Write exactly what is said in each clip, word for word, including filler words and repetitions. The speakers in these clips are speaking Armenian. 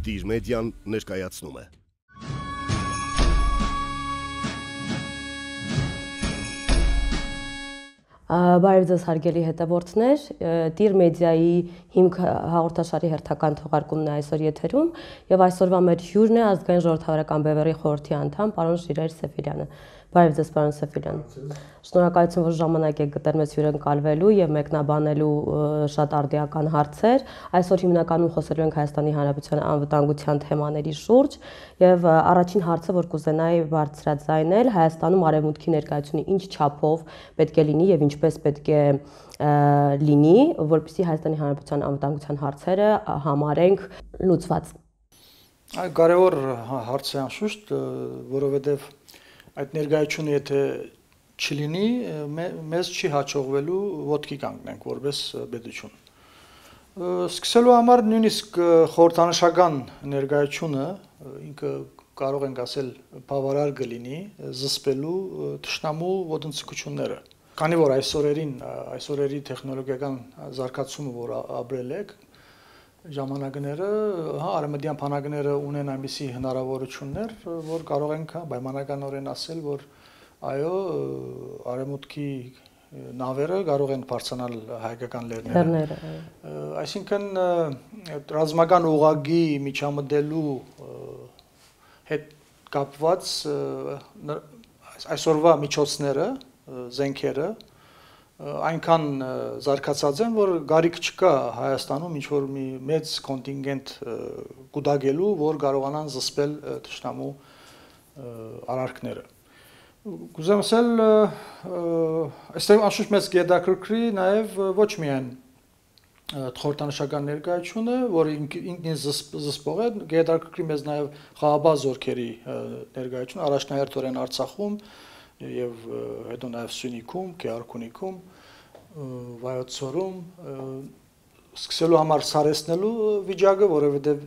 Տիր մեդիան ներկայացնում է։ Բարև ձեզ հարգելի հետևորդներ, Տիր մեդիայի հիմք հաղորդաշարի հերթական թողարկումն է այսօր եթերում եւ այսօրվա մեր հյուրն է ազգային ժողովրդավարական բևեռի խորհրդի անդամ պարոն Ժիրայր Սեֆիրյանը։ Բարև ձեզ պարոն Սեֆիրյան։ Շնորհակալություն, որ ժամանակ եք գտել մեզ հյուրընկալվելու եւ մեկնաբանելու շատ արդիական հարցեր։ Այսօր հիմնականում խոսելու ենք Հայաստանի Հանրապետության անվտանգության թեմաների շուրջ եւ առաջին հարցը, որ կուզենայի բարձրաձայնել, Հայաստանում արևմուտքի ներկայությունը ինչ չափով պետք է լինի եւ ինչպես պետք է լինի, որպեսզի Հայաստանի Հանրապետության անվտանգության հարցերը համարենք լուծված։ Այ կարևոր հարց է անշուշտ, որովհետեւ այդ ներկայությունը եթե չլինի, մեզ չի հաջողվելու ոտքի կանգնենք որպես պետություն։ Սկսելու համար նույնիսկ խորհրդանշական ներկայությունը ինքը կարող ենք ասել բավարար կլինի զսպելու թշնամու ոտնձգությունները։ Քանի որ այսօրերին, այսօրերի տեխնոլոգիական զարգացումը, որ ապրել եք, ժամանակները, հա, արևմտյան բանակները ունեն այնպիսի հնարավորություններ, որ կարող ենք պայմանականորեն ասել, որ այո, արևմուտքի նավերը կարող են բարձրանալ հայկական լեռները։ Այսինքն ռազմական ուղղակի միջամտելու հետ կապված այսօրվա միջոցները, զենքերը այնքան զարգացած են, որ գարիք չկա Հայաստանում ինչ-որ մի մեծ կոնտինգենտ կուտակելու, որ կարողանան զսպել թշնամու արարքները։ Կուզեմ ասել, այստեղ անշուշտ մեզ կհետաքրքրի նաև ոչ միայն խորհրդանշական ներկայությունը, որը ինքնին զսպող է, կհետաքրքրի մեզ նաև խաղաղ զորքերի ներկայությունը, առաջնահերթորեն Արցախում եւ հետո նաև Սյունիքում, Գեղարքունիքում, Վայոց ձորում, սկսելու համար սարեցնելու վիճակը, որովհետեւ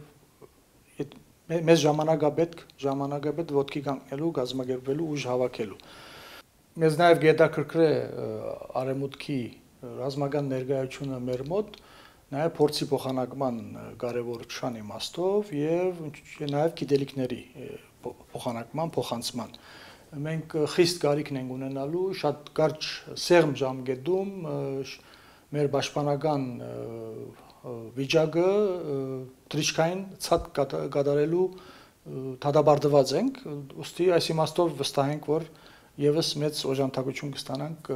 մեզ ժամանակապետք, ժամանակապետ ոտքի կանգնելու, գազམ་ակերպելու, ուժ հավաքելու։ Մեզ նաև կհետաքրքրի արևմուտքի ռազմական ներկայությունը մեր մոտ, նաև փորձի փոխանակման կարևորության իմաստով եւ նաև գիտելիքների փոխանակման, փոխանցման։ Մենք խիստ կարիք ենք ունենալու շատ կարճ սեղմ ժամկետում մեր պաշտպանական վիճակը թրիչքային ցած կատարելու դատապարտված ենք, ուստի այս իմաստով վստահ ենք, որ եւս մեծ օժանդակություն կստանանք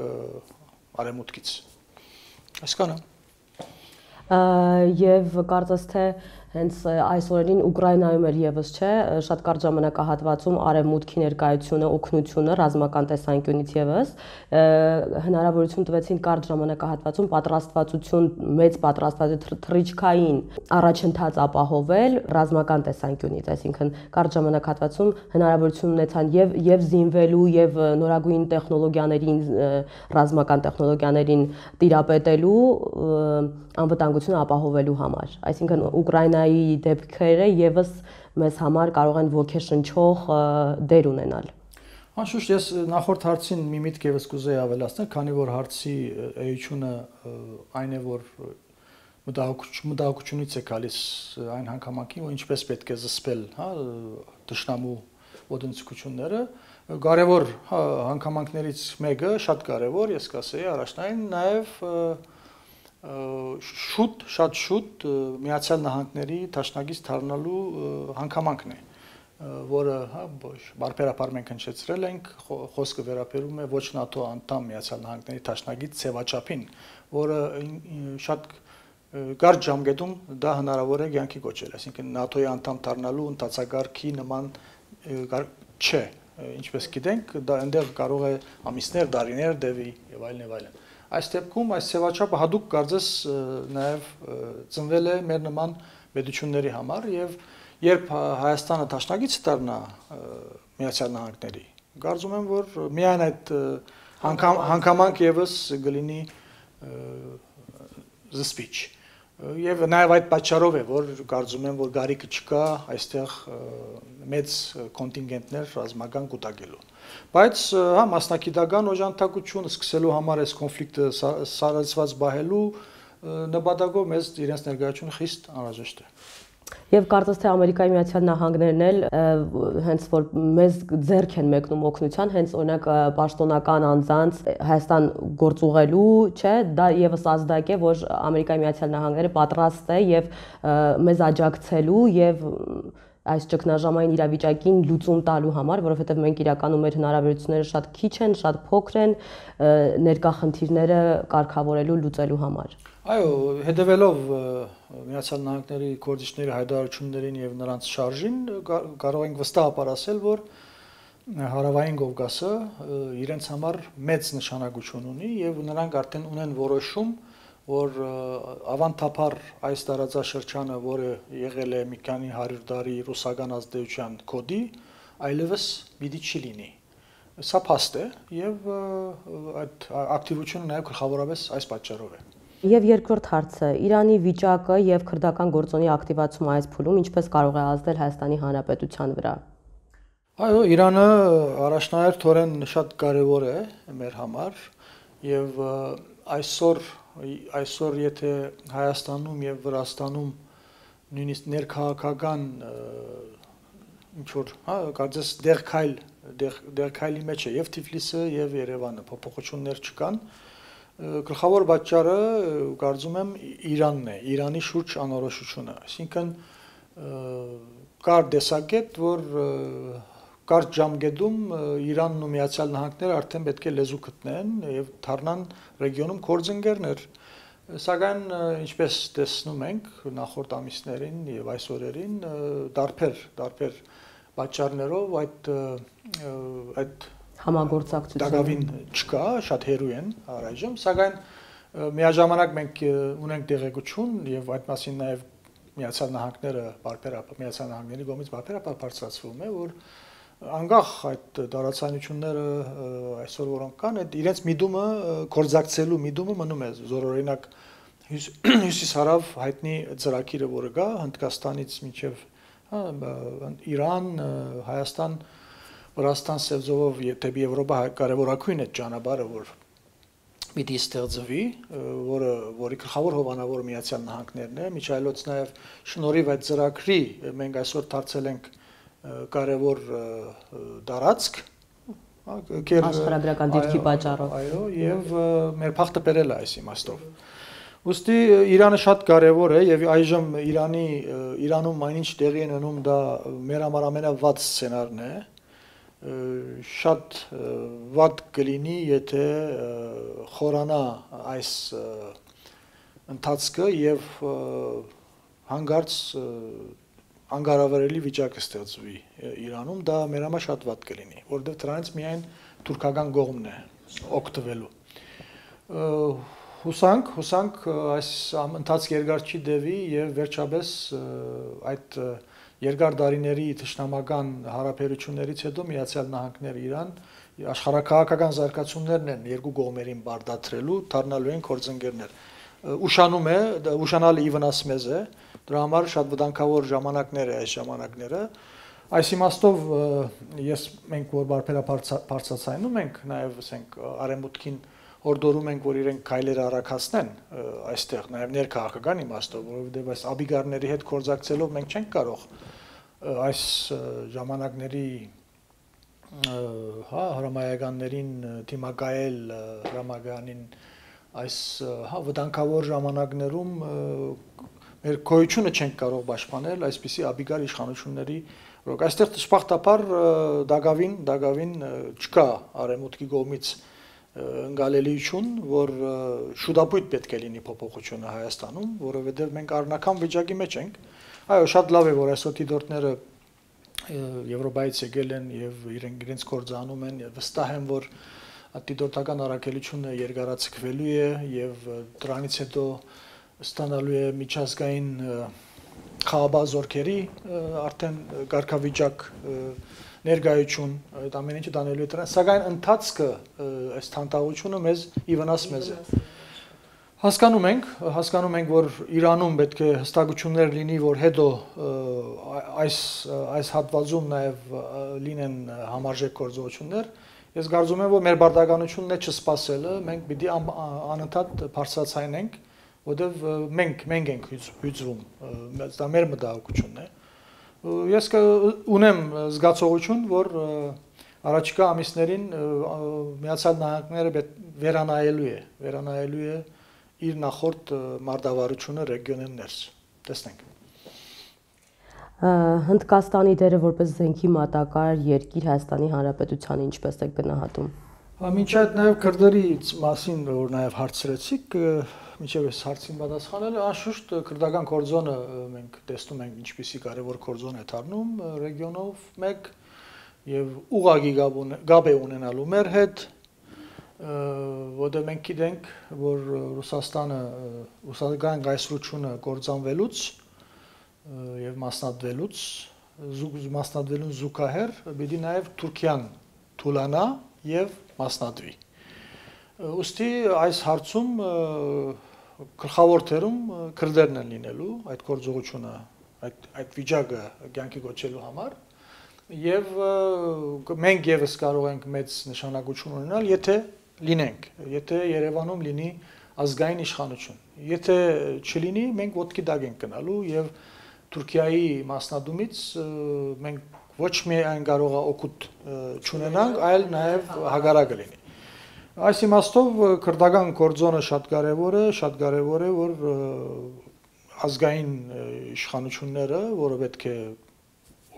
արևմուտքից։ Այսքանը։ Եվ կարծես թե հենց այս օրերին Ուկրաինայում էլ եւս չէ, շատ կարճ ժամանակահատվածում արևմուտքի ներկայությունը, օգնությունը ռազմական տեսանկյունից եւս հնարավորություն տվեցին կարճ ժամանակահատվածում պատրաստվածություն, մեծ պատրաստվածություն թռիչքային առաջընթաց ապահովել ռազմական տեսանկյունից, այսինքն կարճ ժամանակահատվածում հնարավորություն ունեցան եւ եւ զինվելու եւ նորագույն տեխնոլոգիաներին, ռազմական տեխնոլոգիաներին տիրապետելու անվտանգությունը ապահովելու համար, այսինքն Ուկրաինայի դեպքերը եւս մեզ համար կարող են ոգեշնչող դեր ունենալ։ Անշուշտ ես նախորդ հարցին մի միտք եւս կուզեի ավելացնել, քանի որ հարցի էությունը այն է, որ մտահոգությունից է գալիս այն հանգամանքին, որ ինչպես պետք է զսպել, հա, թշնամու ոտնձգությունները, կարևոր հանգամանքներից մեկը, շատ կարևոր, ես կասեի առաջնային, նաեւ շուտ, շատ շուտ Միացյալ Նահանգների դաշնակից դառնալու հանգամանքն է, որը բարբերաբար մենք հնչեցրել ենք, խոսքը վերաբերում է ոչ ՆԱՏՕ անդամ Միացյալ Նահանգների դաշնակից ձևաչափին, որը շատ կարճ ժամկետում դա հնարավոր է կյանքի կոչել, այսինքն ՆԱՏՕ-ի անդամ դառնալու ընթացակարգի նման չէ, ինչպես գիտենք, դա այնտեղ կարող է ամիսներ, տարիներ տևի եւ այլն եւ այլն։ Այս դեպքում այս ձևաչափը հadoop կարծես նաև ծնվել է մեր նման պետությունների համար եւ երբ Հայաստանը դաշնակից դառնա Միացյալ Նահանգների, կարծում եմ, որ միայն այդ հանգամանք եւս կլինի զսպիչ։ Եվ նաև այդ պատճառով է, որ կարծում եմ, որ գարիկը չկա այստեղ մեծ կոնտինգենտներ ռազմական կուտակելու։ Բայց հա մասնակիտական օժանդակություն սկսելու համար այս կոնֆլիկտը սարսված բահելու նպատակով մեզ իրենց ներկայությունը խիստ անհրաժեշտ է։ Եվ կարծես թե Ամերիկայի Միացյալ Նահանգներն էլ հենց որ մեզ ձեռք են մեկնում օգնության, հենց օրինակ պաշտոնական անձանց Հայաստան գործուղելու, չէ, դա եւս ազդակ է, որ Ամերիկայի Միացյալ Նահանգները պատրաստ է եւ մեզ աջակցելու եւ այս ճգնաժամային իրավիճակին լուծում տալու համար, որովհետև մենք իրականում մեր հնարավորությունները շատ քիչ են, շատ փոքր են ներկա խնդիրները կարգավորելու, լուծելու համար։ Այո, հետևելով Միացյալ Նահանգների գործիչների հայտարարություններին եւ նրանց շարժին կարող ենք վստահաբար ասել, որ Հարավային Կովկասը իրենց համար մեծ նշանակություն ունի եւ նրանք արդեն ունեն որոշում, որ ավանդաբար այս տարածաշրջանը, որը եղել է մի քանի հարյուր տարի ռուսական ազդեցության կոդի, այլևս պիտի չի լինի։ Սա փաստ է եւ այդ ակտիվությունը նաեւ գլխավորապես այս պատճառով է։ Եվ երկրորդ հարցը, Իրանի վիճակը եւ քրդական գործոնի ակտիվացումը այս փուլում ինչպես կարող է ազդել Հայաստանի Հանրապետության վրա։ Այո, Իրանը առաջնահերթորեն շատ կարևոր է մեր համար եւ այսօր այսօր եթե Հայաստանում եւ Վրաստանում նույնիսկ ներքաղաքական ինչ որ, հա, կարծես դեղքայլ դեղքայլի մեջ է եւ Թիֆլիսը եւ Երևանը, փոփոխություններ չկան։ Գլխավոր պատճառը կարծում եմ Իրանն է, Իրանի շուրջ անորոշությունը, այսինքն կար տեսակետ, որ կարճ ժամկետում Իրանն ու Միացյալ Նահանգները արդեն պետք է լեզու գտնեն եւ դառնան ռեգիոնում գործընկերներ, սակայն ինչպես տեսնում ենք նախորդ ամիսներին եւ այս օրերին դարբեր դարբեր պատճառներով այդ այդ համագործակցություն դակավին չկա, շատ հեռու են առայժմ, սակայն միաժամանակ մենք ունենք տեղեկություն եւ այդ մասին նաեւ Միացյալ Նահանգները բարբերաբար Միացյալ Նահանգների կողմից բարբերաբար բարձրացվում է, որ անկախ այդ տարածանությունները այսօր որոնք կան, այդ իրենց միտումը կորզակցելու միտումը մնում է զորօրինակ հյուսիս-հարավ հայտնի ծրագիրը, որը կա Հնդկաստանից մինչև Իրան, Հայաստան, Վրաստան սևձովով դեպի Եվրոպա կարևորագույն է ճանապարհը, որ պիտի ստեղծվի, որը որի գլխավոր հովանավորը Միացյալ Նահանգներն է, միջայլոց նաև շնորհիվ այդ ծրագրի մենք այսօր դարձել ենք կարևոր տարածք, աշխարհագրական դիրքի պատճառով։ Այո, եւ մեր փախտը բերել է այս իմաստով։ Ոստի Իրանը շատ կարևոր է եւ այժմ Իրանի Իրանում այնինչ տեղի են ունենում, դա մեր համար ամենավատ սցենարն է։ Շատ վատ կլինի, եթե խորանա այս ընթացքը եւ հանգարց անկարավարելի վիճակ կստեղծվի Իրանում, դա մեր համար շատ վատ կլինի, որովհետեւ դրանից միայն թուրքական կողմն է օգտվելու։ Հուսանք, հուսանք այս ընթացք երկար չի տևի եւ վերջապես այդ երկար տարիների թշնամական հարաբերություններից հետո Միացյալ Նահանգները Իրան աշխարհակաղակական զարգացումներն են երկու կողմերին բարդացրելու, դառնալու են գործընկերներ։ Ուշանում է, ուշանալը ի վնաս մեզ է, դրա համար շատ վտանգավոր ժամանակներ է այս ժամանակները։ Այս իմաստով ես մենք որ բարբերաբար բարձրացնում ենք, նաև ասենք արևմուտքին հորդորում ենք, որ իրենք քայլեր առաքացնեն այստեղ, նաև ներքաղաքական իմաստով, որովհետև այս աբիգարների հետ կորզակցելով մենք չենք կարող այս ժամանակների հա հրամայականներին դիմակայել հրամայականին այս հա վտանգավոր ժամանակներում մեր գոյությունը չենք կարող պաշտպանել այսպիսի աբիգար իշխանությունների, որոնք այստեղ դժբախտաբար դակավին դակավին չկա արևմուտքի կողմից ընկալելիություն, որ շուտապույտ պետք է լինի փոփոխությունը Հայաստանում, որովհետև մենք առնական վիճակի մեջ ենք։ Այո, շատ լավ է, որ այսօր դիտորդները Եվրոպայից եկել են եւ իրենք իրենց գործը անում են, վստահ եմ, որ դիտորդական առաքելությունը երկարացկվելու է եւ դրանից հետո ստանալու է միջազգային խաղաբար զորքերի արդեն կարգավիճակ ներկայություն, այդ ամեն ինչը դանելու է դրան, սակայն ընթացքը այս թանտաղությունը մեզ ի վնաս մեզ է։ Հասկանում ենք, հասկանում ենք, որ Իրանում պետք է հստակություններ լինի, որ հետո այս այս հատվածում նաև լինեն համարժեք գործողություններ։ Ես կարծում եմ, որ մեր բարդականությունն է չսպասելը, մենք պիտի անընդհատ բարձրացնենք որտեվ մենք մենք ենք հյուծվում, դա մեր մտահոգությունն է։ Ես ունեմ զգացողություն, որ առաջիկա ամիսներին Միացյալ Նահանգները վերանայելու է, վերանայելու է իր նախորդ մարտավարությունը ռեգիոնեն ներս։ Տեսնենք։ Հնդկաստանի դերը որպես զենքի մատակարար երկիր Հայաստանի Հանրապետությանը ինչպես եք գնահատում։ Մինչ այդ նաև քրդերի մասին, որ նաև հարցրեցիք, մինչև այս հարցին պատասխանելը, անշուշտ քրդական կորձոնը մենք տեսնում ենք ինչպիսի կարևոր կորձոն է դառնում ռեգիոնով մեկ եւ ուղղակի գաբ է ունենալու մեր հետ, որտեղ մենք գիտենք, որ Ռուսաստանը ռուսական գայսրությունը կործանվելուց եւ մասնատվելուց մասնատվելուն զուգահեռ պիտի նաև Թուրքիան թուլանա եւ մասնատվի։ Ուստի այս հարցում գլխավոր թերում քրդերն են լինելու այդ գործողությունը, այդ այդ վիճակը կյանքի գոչելու համար եւ մենք եւս կարող ենք մեծ նշանակություն ունենալ, եթե լինենք, եթե Երևանում լինի ազգային իշխանություն։ Եթե չլինի, մենք ոտքի տակ ենք գնալու եւ Թուրքիայի մասնադումից մենք ոչ միայն կարող է օգուտ չունենանք, այլ նաեւ հագարակը լինի։ Այս իմաստով քրդական կորձոնը շատ կարևոր է, շատ կարևոր է, որ ազգային իշխանությունները, որը պետք է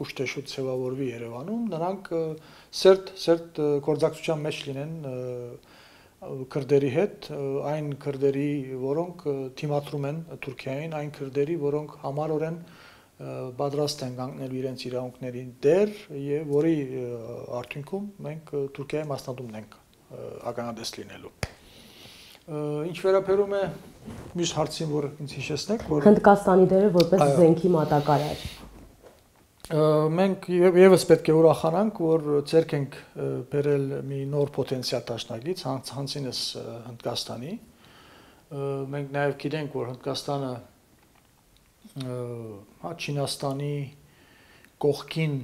ուշտեշուտ ձևավորվի Երևանում, նրանք սերտ սերտ գործակցության մեջ լինեն քրդերի հետ, այն քրդերի, որոնք թիմադրում են Թուրքիային, այն քրդերի, որոնք համառորեն պատրաստ են կանգնել իրենց իրավունքներին դեր եւ որի արդյունքում մենք Թուրքիայի մասնադումն ենք ականատես լինելու։ Ինչ վերաբերում է մյուս հարցին, որ ինձ հիշեցնեք, որ Հնդկաստանի դերը որպես զենքի մատակարար։ Մենք եւս պետք է ուրախանանք, որ ցերկ ենք բերել մի նոր պոտենցիալ դաշնակից, հանցինս Հնդկաստանի։ Մենք նաեւ գիտենք, որ Հնդկաստանը հա Չինաստանի կողքին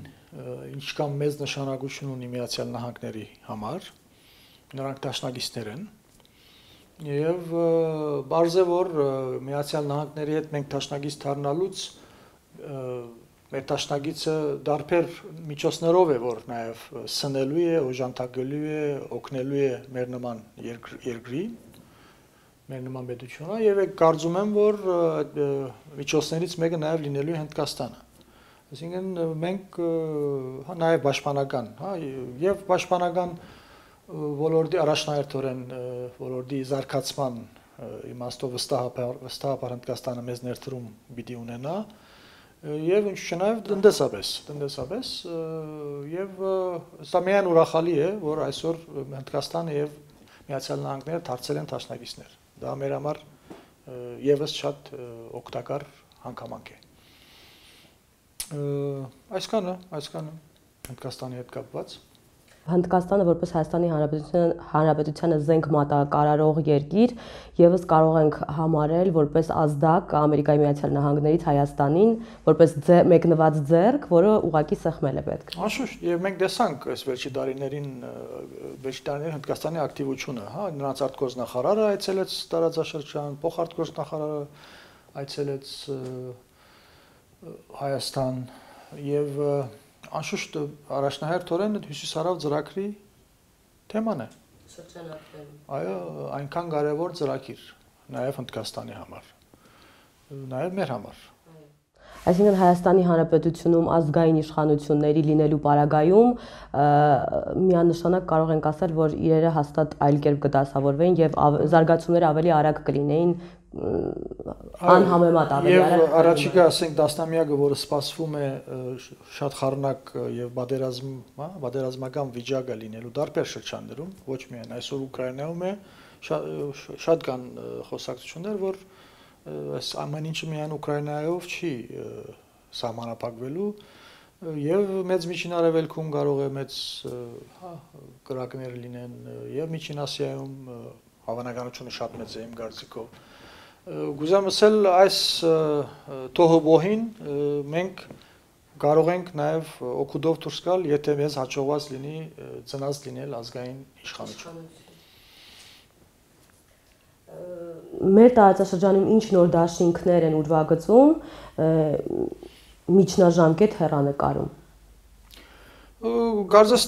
ինչքան մեծ նշանակություն ունի Միացյալ Նահանգների համար, նրանք դաշնակիցներ են եւ բարձ է որ Միացյալ Նահանգների հետ մենք դաշնակից դառնալուց մեր դաշնակիցը դարբեր միջոցներով է որ նաեւ սնելու է, օժանդակելու է, օգնելու է մեր նման երկրի մեր նման պետությունը եւ կարծում եմ որ միջոցներից մեկը նաեւ լինելու է Հնդկաստանը։ Այսինքն մենք հա նաեւ պաշտպանական, հա եւ պաշտպանական ոլորտի առաջնահերթորեն ոլորտի զարգացման իմաստով վստահաբար վստահաբար Հնդկաստանը մեզ ներդրում պիտի ունենա եւ ինչ չնայած տնտեսապես տնտեսապես եւ սա միայն ուրախալի է որ այսօր Հնդկաստանը եւ Միացյալ Նահանգները դարձել են դաշնակիցներ։ Դա մեր համար եւս շատ օգտակար հանգամանք է։ Այսքանը, այսքանը Հնդկաստանի հետ կապված։ Հնդկաստանը որպես Հայաստանի Հանրապետությանը զենք մատակարարող երկիր եւս կարող ենք համարել որպես ազդակ Ամերիկայի Միացյալ Նահանգներից Հայաստանին, որպես մեկնված ձեռք, որը ուղղակի սեղմել է պետք։ Անշուշտ, եւ մենք տեսանք այս վերջի տարիներին վերջի տարիներին Հնդկաստանի ակտիվությունը, հա, նրանց արտգործնախարարը այցելեց տարածաշրջան, փոխարտգործնախարարը այցելեց Հայաստան եւ անշուշտ առաջնահերթորեն հյուսիսարավ ծրագրի թեման է։ Այո, այնքան կարևոր ծրագիր, նաև Հնդկաստանի համար, նաև մեր համար։ Այսինքն Հայաստանի Հանրապետությունում ազգային իշխանությունների լինելու պարագայում միանշանակ կարող ենք ասել, որ իրերը հաստատ այլ կերպ կդասավորվեն եւ զարգացումները ավելի արագ կլինեին անհամեմատ ավելի արագ։ Եվ առաջիկա, ասենք, տասնամյակը, որը սպասվում է շատ խառնակ եւ պատերազմ, հա, պատերազմական վիճակը լինելու տարբեր շրջաններում, ոչ միայն այսօր Ուկրաինայում է, շատ կան խոսակցություններ, որ այս ամեն ինչը միայն Ուկրաինայով չի սահմանափակվելու եւ մեծ միջին արևելքում կարող է մեծ հա կրակներ լինեն եւ միջին Ասիայում հավանականությունը շատ մեծ է իմ կարծիքով։ Գուզեմ ասել այս թոհոբոհին մենք կարող ենք նաեւ օգուտով դուրս գալ, եթե մեզ հաջողված լինի ծնած լինել ազգային իշխանություն։ Մեր տարածաշրջանում ինչ նոր դաշինքներ են ուրվագծում միջնաժամկետ հեռանկարում։ Կարծես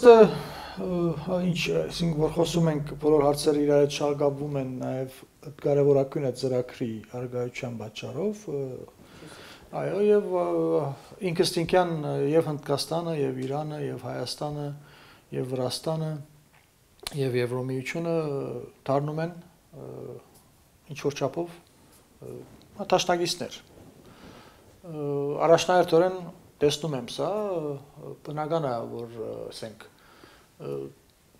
ինչ, այսինքն որ խոսում ենք բոլոր հարցերը իրար հետ շարունակվում են նաև կարևորագույն այդ ծրագրի արգայության պատճառով, այո, եւ ինքստինքյան եւ Հնդկաստանը, եւ Իրանը, եւ Հայաստանը, եւ Վրաստանը, եւ Եվրոմիությունը դառնում են ինչ որ չափով դաշնակիցներ։ Առաջնահերթորեն տեսնում եմ սա, բնական է, որ ասենք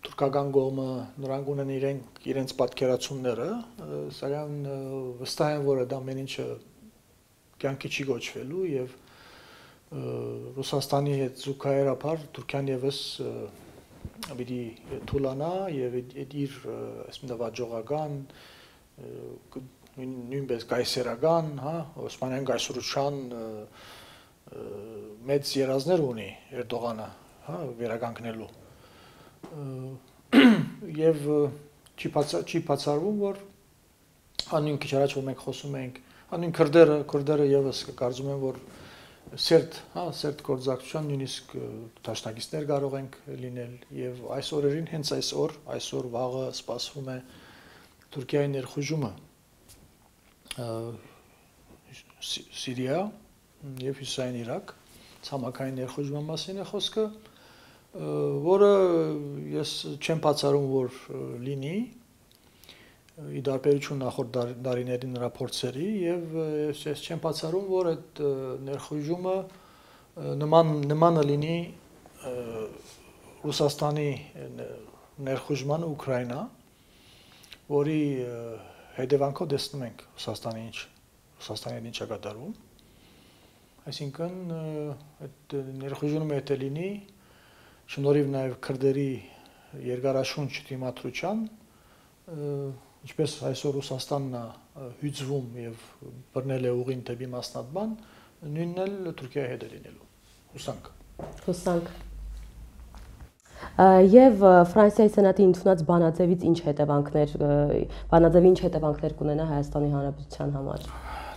թուրքական կողմը նրանք ունեն իրենք իրենց պատկերացումները, սակայն վստահ եմ, որ դա ամեն ինչը կյանքի չի գոչվելու եւ Ռուսաստանի հետ զուգահեռաբար Թուրքիան եւս պիտի թուլանա եւ իր այսպես վաճողական նույնպես կայսերական, հա, Օսմանյան կայսրության մեծ երազներ ունի Էրդողանը, հա, վերականգնելու։ Եվ չի բացառվում, որ անուն քիչ առաջ որ մենք խոսում ենք, անուն քրդերը, քրդերը եւս կարծում են, որ սերտ, հա, սերտ գործակցության նույնիսկ դաշնակիցներ կարող ենք լինել եւ այս օրերին հենց այսօր, այսօր վաղը սպասվում է Թուրքիայի ներխուժումը Սիրիա եւ Հյուսիսային Իրաք, ցամաքային ներխուժման մասին է խոսքը, որը ես չեմ բացառում, որ լինի ի տարբերություն նախորդ դարիների նրա փորձերի եւ ես չեմ բացառում, որ այդ ներխուժումը նման նմանը լինի Ռուսաստանի ներխուժմանը Ուկրաինա, որի հետևանքով տեսնում ենք Ռուսաստանի ինչ Ռուսաստանի ինչ է կատարվում, այսինքն այդ ներխուժումը եթե լինի շնորհիվ նաեւ քրդերի երկարաշունչ դիմադրության, ինչպես այսօր Ռուսաստանն է հյուծվում եւ բռնել է ուղին դեպի մասնատման, նույնն էլ Թուրքիայի հետ է լինելու։ Հուսանք։ Հուսանք։ Եվ Ֆրանսիայի սենատի ընդունած բանաձևից ինչ հետևանքներ, բանաձևի ինչ հետևանքներ կունենա Հայաստանի Հանրապետության համար։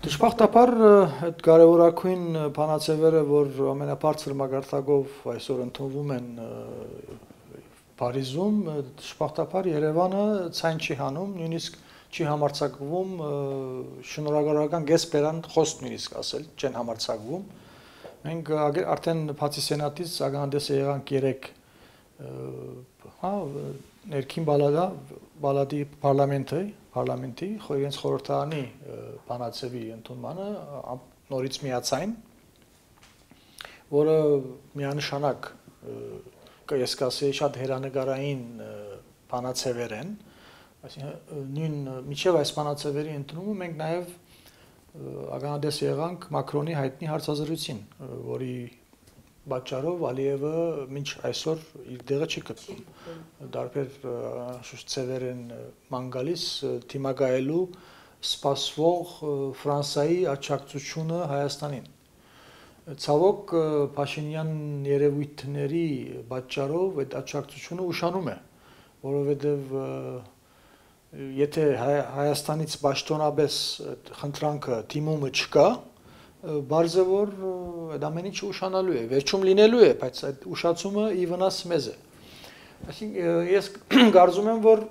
Դժբախտաբար այդ կարևորագույն բանաձևերը, որ ամենաբարձր մակարդակով այսօր ընդունվում են Փարիզում, դժբախտաբար Երևանը ցայն չի հանում, նույնիսկ չի համարձակվում շնորհավորական գեսպերան խոսք նույնիսկ ասել, չեն համարձակվում։ Մենք արդեն բացի սենատից ագանդես եղանք երեք հա ներքին բալադա բալադի parlamenti parlamenti իրենց խորհրդարանի բանաձևի ընդունմանը նորից միացային, որը միանշանակ ես կասեի շատ հերանեկարային բանաձևեր են, այսինքն նույն միջև այս բանաձևերի ընդունումը մենք նաև ականատես եղանք Մակրոնի հայտնի հարցազրույցին, որի պատճառով Ալիևը մինչ այսօր իր դեղը չի գտնում։ Դարբեր ցևեր են ման գալիս թիմակայելու սպասվող Ֆրանսիայի աջակցությունը Հայաստանին։ Ցավոք Փաշինյան երևույթների պատճառով այդ աջակցությունը ուշանում է, որովհետև եթե Հայաստանից պաշտոնապես խնդրանքը դիմումը չկա, բարձ է որ այդ ամեն ինչը ուշանալու է, վերջում լինելու է, բայց այդ ուշացումը ի վնաս մեզ է։ Այսինքն ես կարծում եմ, որ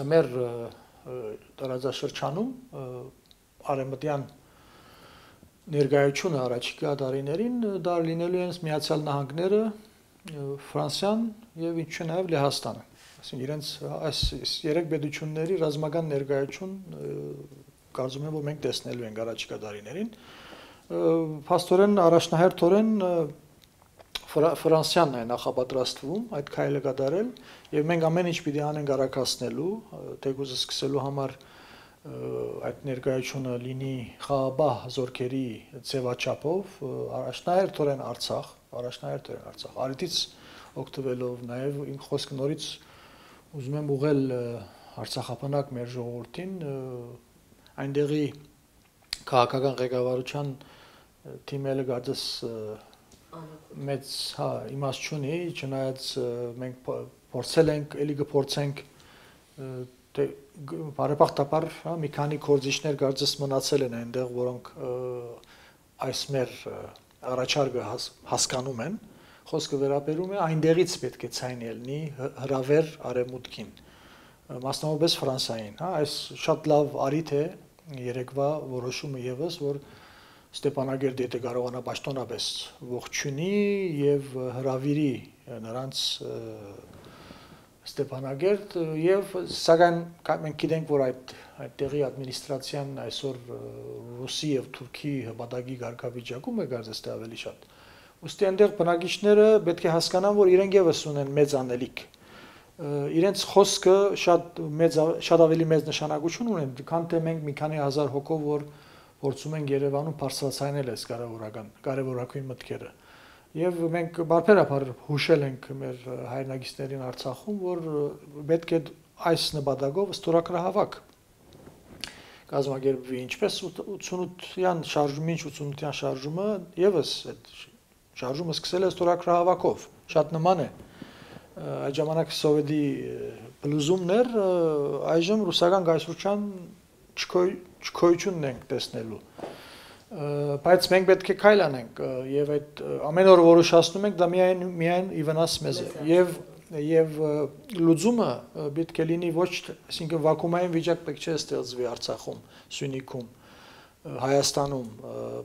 մեր տարածաշրջանում արևմտյան ներկայությունը առաջիկա տարիներին դա լինելու են Միացյալ Նահանգները, Ֆրանսիան եւ ինչու նաեւ Լեհաստանը։ Այսինքն իրենց այս երեք պետությունների ռազմական ներկայություն կարծում եմ, որ մենք տեսնելու ենք առաջիկա տարիներին։ Փաստորեն առաջնահերթորեն Ֆրանսիան է նախապատրաստվում այդ քայլը կատարել եւ մենք ամեն ինչ պիտի անենք արագացնելու, թեկուզ սկսելու համար այդ ներկայությունը լինի խաղաղ զորքերի ձևաչափով, առաջնահերթորեն Արցախ, առաջնահերթորեն Արցախ, արիտից օգտվելով նաեւ իմ խոսքը նորից ուզում եմ ուղղել Արցախապանակ մեր ժողովրդին, այնտեղի քաղաքական ղեկավարության թիմերը գարցես մեծ հա իմաստ չունի, չնայած մենք փորձել ենք, էլի կփորձենք դե բարեբախտաբար մի քանի կորձիչներ կարծես մնացել են այնտեղ, որոնք այս մեր առաջարկը հասկանում են, խոսքը վերաբերում է այնտեղից պետք է ցայն ելնի հրավեր արևմուտքին, մասնավորապես Ֆրանսիային, հա, այս շատ լավ արիթ է երեկվա որոշումը եւս, որ Ստեփանագերդը եթե կարողանա պաշտոնապես ողջունի եւ հրավիրի նրանց Ստեփանագերդ եւ սակայն մենք գիտենք, որ այդ այդտեղի ադմինիստրացիան այսօր Ռուսի եւ Թուրքի հպատակի կարգավիճակում է կարծես թե ավելի շատ։ Ոստի այնտեղ բնակիչները պետք է հասկանան, որ իրենք եւս ունեն մեծ անելիք։ Իրենց խոսքը շատ մեծ շատ ավելի մեծ նշանակություն ունեն, քան թե մենք մի քանի հազար հոգով որ փորձում ենք Երևանում բարձրացնել այս կարևորական կարևորագույն մտքերը։ Եվ մենք բարբերաբար հուշել ենք մեր հայրենակիցներին Արցախում, որ պետք է այս նպատակով ստորագրահավաք կազմակերպվի, ինչպես ութսունության շարժումը, ինչ ութսունության շարժումը եւս այդ շարժումը սկսել է ստորագրահավաքով, շատ նման է։ Այդ ժամանակ սովետի բլուզումներ, այժմ ռուսական գայսրության չքոյությունն ենք տեսնելու։ Բայց մենք պետք է քայլ անենք եւ այդ ամեն օր որոշացնում ենք դա միայն միայն ի վնաս մեզ է եւ եւ լուծումը պետք է լինի ոչ, այսինքն վակուումային վիճակ պետք չէ ստեղծվի Արցախում, Սյունիքում, Հայաստանում,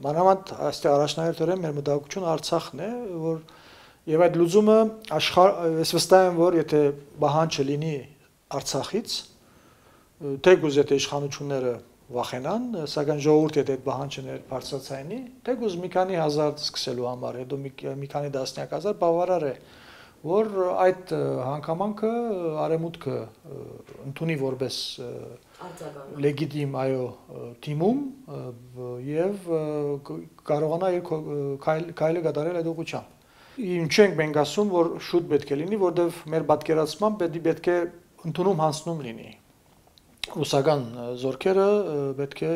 մանավանդ այստեղ առաջնահերթորեն մեր մտահոգությունը Արցախն է, որ եւ այդ լուծումը աշխարհ, ես վստահ եմ, որ եթե բանջը լինի Արցախից, թեկուզ եթե իշխանությունները վախենան, սակայն ժողովուրդը եթե այդ բանջը բարձրացնի, թեկուզ մի քանի հազար սկսելու համար, հետո մի քանի տասնյակ հազար բավարար է, որ այդ հանգամանքը արևմուտքը ընդունի որպես լեգիտիմ այո թիմում եւ կարողանա իր քայլը կատարել այդ ուղղությամբ։ Ինչ ենք մենք ասում, որ շուտ պետք է լինի, որտեղ մեր պատկերացմամբ պետք է ընդունում հանձնում լինի։ Ռուսական զորքերը պետք է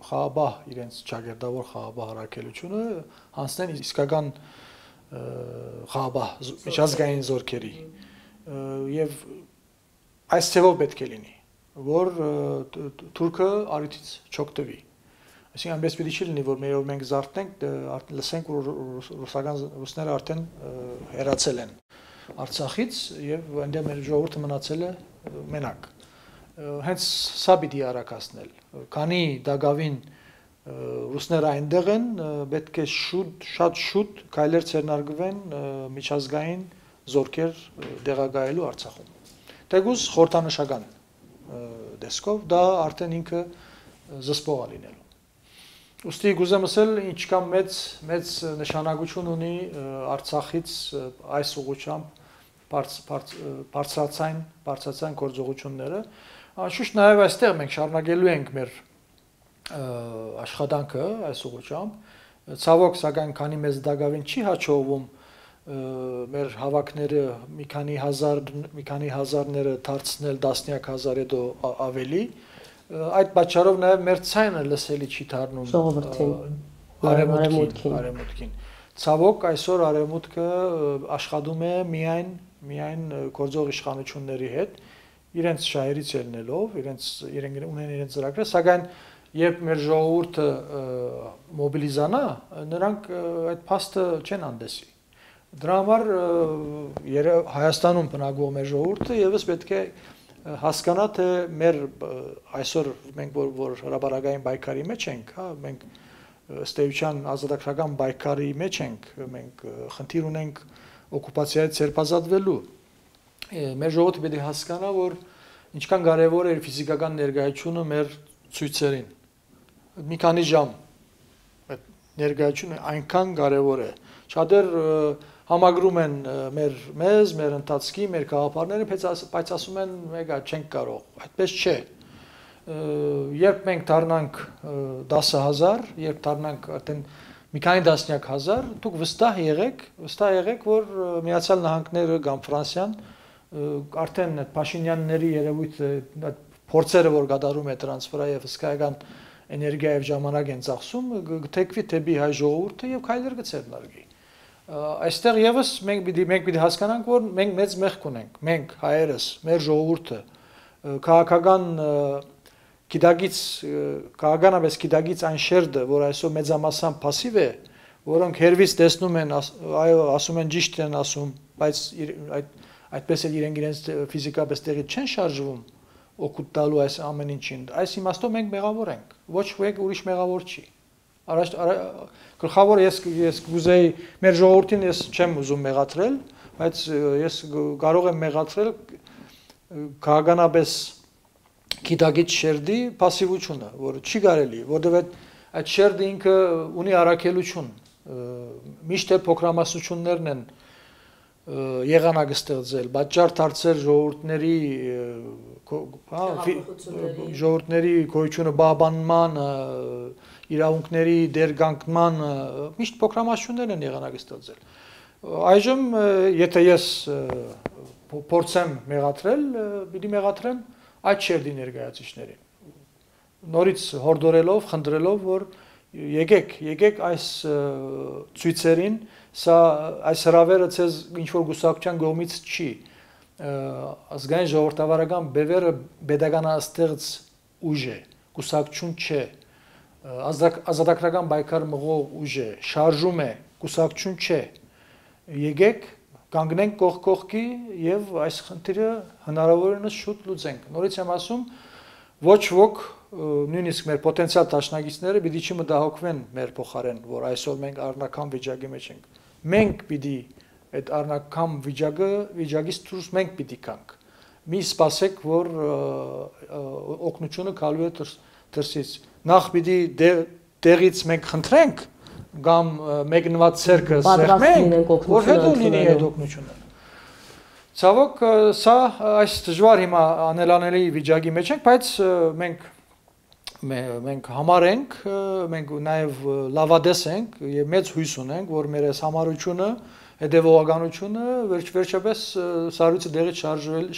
խաղաբահ իրենց ճակերտավոր խաղաբահ առաքելությունը հանձնեն իսկական խաղաբահ միջազգային զորքերի եւ այս ցեվով պետք է լինի, որ Թուրքը արիթից չօգտվի։ Այսինքն այնպես պիտի չի լինի, որ մերով մենք զարթնենք, լսենք, որ ռուսական ռուսները արդեն հեռացել են Արցախից եւ այնտեղ մեր ժողովուրդը մնացել է մենակ։ Հենց սա պիտի արակացնել, քանի դակավին ռուսները այնտեղ են, պետք է շուտ, շատ շուտ քայլեր ձեռնարկվեն միջազգային զորքեր դեղագայելու Արցախում։ Թեկուզ խորհրդանշական դեսքով դա արդեն ինքը զսպող է լինելու։ Ուստի գուզեմ ասել, ինչքան մեծ մեծ նշանակություն ունի Արցախից այս ուղղությամբ բարձրացան բարձրացան գործողությունները։ Անշուշտ նաև այստեղ մենք շարունակելու ենք մեր աշխատանքը այս ուղղությամբ։ Ցավոք, սակայն քանի մեզ դակավին չի հաջողվում մեր հավաքները մի քանի հազար մի քանի հազարները դարձնել տասնյակ հազար հետո ավելի, այդ պատճառով նաև մեր ցայնը լսելի չի դառնում արևմուտքին, արևմուտքին։ Ցավոք, այսօր արևմուտքը աշխատում է միայն միայն գործող իշխանությունների հետ, իրենց շահերից ելնելով, իրենց իրենք ունեն իրենց ծրագրերը, սակայն երբ մեր ժողովուրդը մոբիլիզանա, նրանք այդ փաստը չեն անդեսի։ Դրա համար Հայաստանում բնակվող մեր ժողովուրդը եւս պետք է հասկանա, թե մեր այսօր մենք որ, որ հրապարակային պայքարի մեջ ենք, հա, մենք ըստ էության ազատագրական պայքարի մեջ ենք, մենք խնդիր ունենք օկուպացիայից ձերբազատվելու։ Մեր ժողովուրդը պետք է հասկանա, որ ինչքան կարևոր է ֆիզիկական ներկայությունը մեր ցույցերին։ Մի քանի ժամ այդ ներկայությունը այնքան կարևոր է։ Շատեր համագրում են մեր մեզ, մեր ընթացքի, մեր գաղափարները, բայց ասում են, մեգա չենք կարող։ Այդպես չէ։ Երբ մենք դառնանք դասը հազար, երբ դառնանք արդեն մի քանի տասնյակ հազար, դուք վստահ եղեք, վստահ եղեք, որ Միացյալ Նահանգները կամ Ֆրանսիան արդեն այդ Փաշինյանների երևույթը, այդ փորձերը, որ կատարում է դրանց վրա եւ հսկայական էներգիա եւ ժամանակ են ծախսում, գտեքվի թեպի հայ ժողովուրդը եւ քայլեր կցերնարգի։ Այստեղ եւս մենք պիտի մենք պիտի հասկանանք, որ մենք մեծ մեղք ունենք, մենք հայերս, մեր ժողովուրդը, քաղաքական գիտագից քաղաքականապես գիտագից այն շերտը, որ այսօր մեծամասամբ пассив է, որոնք հերվից տեսնում են, այո, ասում են ճիշտ են ասում, բայց այդ այդպես էլ իրենք իրենց ֆիզիկապես տեղից չեն շարժվում, օգուտ տալու այս ամեն ինչին։ Այս իմաստով մենք մեղավոր ենք, ոչ ոք ուրիշ մեղավոր չի։ Առաջ գլխավոր ես ես կուզեի մեր ժողովրդին ես չեմ ուզում մեղադրել, բայց ես կարող եմ մեղադրել քաղաքականապես գիտագից շերտի пассивությունը, որը չի կարելի, որովհետև այդ շերտը ինքը ունի առաքելություն, միշտ էլ փոքրամասնություններն են եղանակ ստեղծել, պատճառ դարձել ժողովուրդների ժողովուրդների գոյությունը բաբանման, իրավունքների դերգանքման, միշտ փոքրամասնություններն են եղանակ ստեղծել։ Այժմ եթե ես փորձեմ մեղադրել, պիտի մեղադրեմ այդ շերտի ներկայացուցիչներին։ Նորից հորդորելով, խնդրելով, որ եկեք, եկեք այս ցույցերին, սա այս հրավերը ցեզ ինչ որ գուսակցության կողմից չի, ազգային ժողովրդավարական բևերը pedagoganastեղծ ուժ է, գուսակցություն չէ, ազատագրական պայքար մղող ուժ է, շարժում է, գուսակցություն չէ։ Եկեք, կանգնենք կողք կողքի եւ այս խնդիրը հնարավորինս շուտ լուծենք։ Նորից եմ ասում, ոչ ոք նույնիսկ մեր պոտենցիալ դաշնակիցները պիտի չմտահոգվեն մեր փոխարեն, որ այսօր մենք առնական վիճակի մեջ ենք։ Մենք պիտի այդ առնական վիճակը վիճակից դուրս մենք պիտի գանք։ Մի սպասեք, որ օգնությունը գալու է դրսից։ Նախ պիտի տեղից մենք խնդրենք կամ մեկնված ցերկը սեղմենք, որ հետո լինի այդ օգնությունը։ Ցավոք, սա այս դժվար հիմա անելանելի վիճակի մեջ ենք, բայց մենք մենք համար ենք, մենք նաև լավադես ենք եւ մեծ հույս ունենք, որ մեր այս համառությունը, հետեւողականությունը վերջ-վերջապես սառույցը դեղից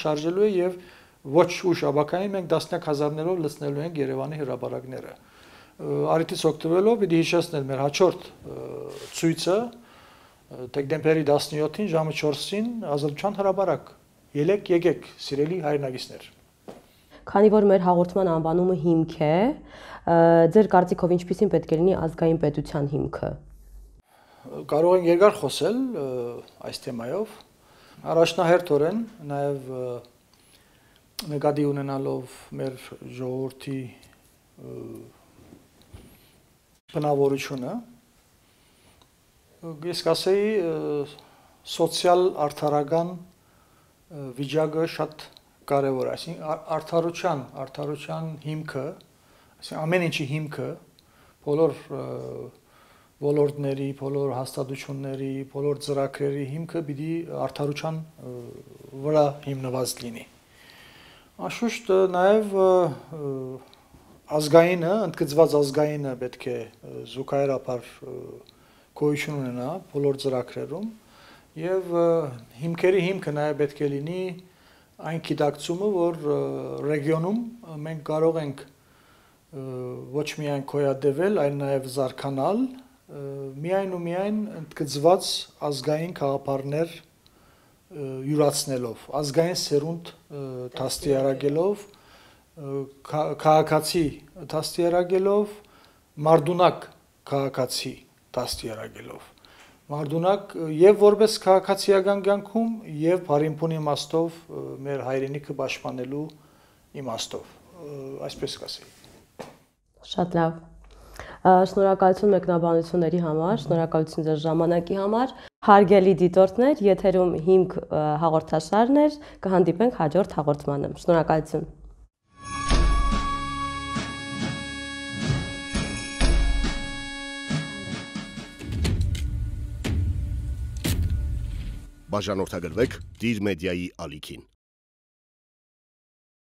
շարժելու է եւ ոչ ուշ ապակային մենք տասնյակ հազարներով լցնելու ենք Երևանի հրապարակները։ Արիթից օգտվելով պիտի հիշեցնել մեր հաջորդ ցույցը դեկտեմբերի տասնյոթին ժամը չորսին Ազատության հրապարակ։ Ելեք, եկեք, սիրելի հայրենակիցներ։ Քանի որ մեր հաղորդման անվանումը հիմք է, ձեր կարծիքով ինչպիսին պետք է լինի ազգային պետության հիմքը։ Կարող ենք երկար խոսել այս թեմայով։ Առաջնահերթորեն նաև նկատի ունենալով մեր ժողովրդի բնավորությունը, ես կասեի սոցիալ արդարական վիճակը շատ կարևոր է, այսինքն արդարության, արդարության հիմքը, այսինքն ամեն ինչի հիմքը, բոլոր ոլորտների, բոլոր հաստատությունների, բոլոր ծրագրերի հիմքը պիտի արդարության վրա հիմնված լինի։ Անշուշտ նաև ազգայինը, ընդգծված ազգայինը պետք է զուգահեռաբար գոյություն ունենա բոլոր ծրագրերում եւ հիմքերի հիմքը նաև պետք է լինի այն գիտակցումը, որ ռեգիոնում մենք կարող ենք ոչ միայն գոյատևել, այլ նաև զարգանալ, միայն ու միայն ընդգծված ազգային գաղափարներ յուրացնելով, ազգային սերունդ դաստիարակելով, քաղաքացի դաստիարակելով, մարդունակ քաղաքացի դաստիարակելով, մարդունակ եւ որպես քաղաքացիական կյանքում եւ բարիփուն իմաստով մեր հայրենիքը պաշտպանելու իմաստով, այսպես կասեի։ Շատ լավ։ Շնորհակալություն մեկնաբանությունների համար, շնորհակալություն ձեր ժամանակի համար։ Հարգելի դիտորդներ, եթերում հիմք հաղորդաշարն էր, կհանդիպենք հաջորդ հաղորդմանը։ Շնորհակալություն։ Բաժանորդագրվեք Դիր մեդիայի ալիքին։